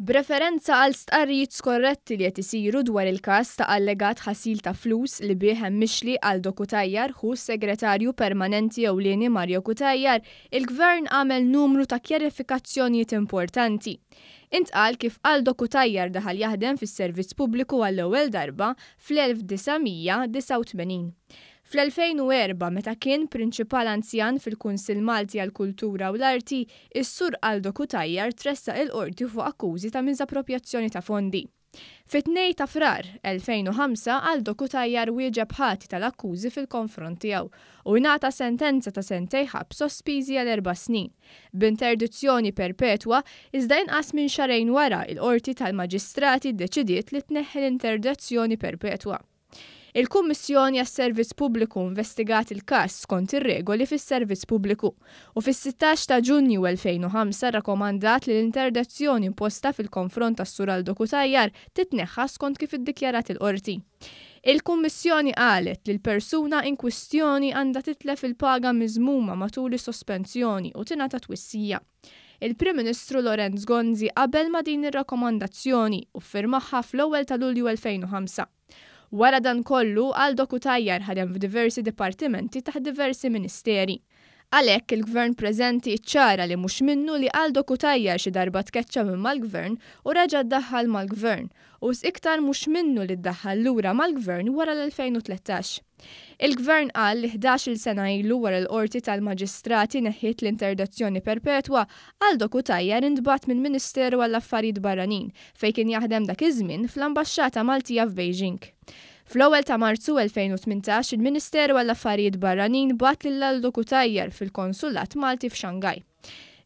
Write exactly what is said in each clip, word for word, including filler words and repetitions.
B'referenza għal stqarrijiet skorretti li qed isiru dwar il-każ ta' allegat ħasil ta' flus li bih hemm mixli Aldo Cutajar, ħu s-Segretarju Permanenti Ewlieni Mario Cutajar, il-Gvern għamel numru ta' kjarifikazzjonijiet importanti. Intqal kif Aldo Cutajar daħal jaħdem fis-servizz pubbliku għall-ewwel darba fl-elf disa' mija disgħa u tmenin. Fl-elfejn u erba', meta kien prinċipal anzjan fil-Kunsill Malti għall-Kultura u l-Arti, is-Sur Aldo Cutajar tressaq il-qorti fuq akkużi ta' miżapproprjazzjoni ta' fondi. Fit-tnejn ta' Frar elfejn u ħamsa, Aldo Cutajar wieġeb ħati tal-akkużi fil-konfront tiegħu u ingħata sentenza ta' sentejn ħabs sospiżi għal erba' snin, b'interdizzjoni perpetwa, iżda inqas minn xahrejn wara il-Qorti tal-Maġistrati ddeċidiet li tneħħi l-interdizzjoni perpetwa. Il-Kummissjoni għas-Servizz Pubbliku investigat il-każ skont ir-regoli fis-Servizz Pubbliku u fis-sittax ta' Ġunju elfejn u ħamsa rrakkomandat li l-interdizzjoni imposta fil-konfront tas-Sur Aldo Cutajar titneħħa skont kif iddikjarat il-qorti. Il-Kummissjoni qalet li l-persuna in kwistjoni għandha titlef il-paga miżmuma matul is-sospensjoni u tingħata twissija. Il-Prim Ministru Lawrence Gonzi qabel ma din ir-rakkomandazzjoni u ffirmaha fl-ewwel ta' Lulju elfejn u ħamsa. Wara dan kollu, Aldo Cutajar ħadem f'diversi dipartimenti taħt diversi ministeri. Għalhekk il-Gvern preżenti ċċara li mhux minnu li Aldo Cutajar xi darba tkeċċa minn mal-Gvern u reġa' ddaħħal mal-Gvern, u iktar mhux minnu li ddaħħal lura mal-Gvern wara l-elfejn u tlettax. Il-Gvern qal li ħdax-il sena ilu wara l-Qorti tal-Maġistrati neħħiet l-interdizzjoni perpetwa, Aldo Cutajar intbagħat mill-Ministeru għall-Affarijiet Barranin fejn kien jaħdem dak iż-żmien fl-Ambaxxata Maltija f'Beijing. Fl-ewwel ta' Marzu elfejn u tmintax il-Ministeru għall-Affarijiet Barranin bagħat lil Aldo Cutajar fil-Konsulat Malti f'Shanghai.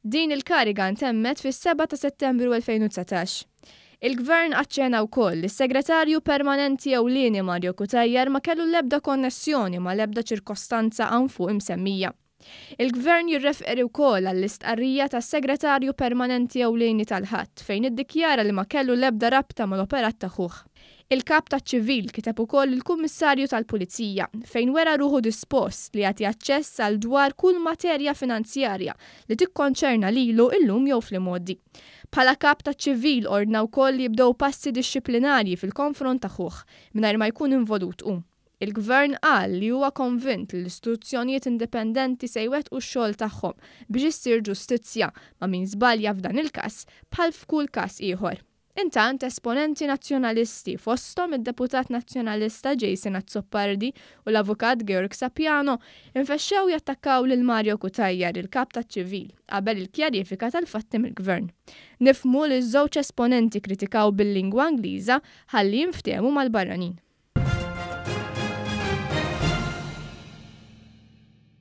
Din il-kariga ntemmet fis-seba' ta' Settembru elfejn u dsatax. Il-Gvern aċċena wkoll li s-Segretarju Permanenti Ewlieni Mario Cutajar ma kellu l-ebda konnessjoni ma l-ebda ċirkostanza hawn fuq imsemmija. Il-Gvern jirreferi wkoll għall-istqarrija tas-Segretarju Permanenti Ewlieni tal-Ħadd fejn iddikjara li ma kellu l-ebda rabta mal-operat ta' ħuh. Il-kap taċ-ċivil kiteb ukoll il-Kummissarju tal-Pulizija fejn wera ruħu dispost li jagħti aċċess għal dwar kull materja finanzjarja li tikkonċerna lilu illum jew fl-imgħoddi. Bħala kap taċ-ċivil ordna wkoll li jibdew passi dixxiplinarji fil-konfront ta' ħuh mingħajr ma jkun involut hu. Il-Gvern qal li huwa konvint li l-istituzzjonijiet indipendenti se jwettqu x-xogħol tagħhom biex issir ġustizzja ma' min żbalja f'dan il-każ bħal f'kull każ ieħor. Intant, esponenti nazzjonalisti fosthom id-deputat nazzjonalista Jason Azzopardi u l-avukat Georg Sapiano infexxew jattakkaw lil Mario Cutajar, il-kap taċ-ċivil, qabel il-kjarifika tal-fatti mill-Gvern. Nifhmu li ż-żewġ esponenti kritikaw bil-lingwa Ingliża ħalli jinftehmu mal-barranin.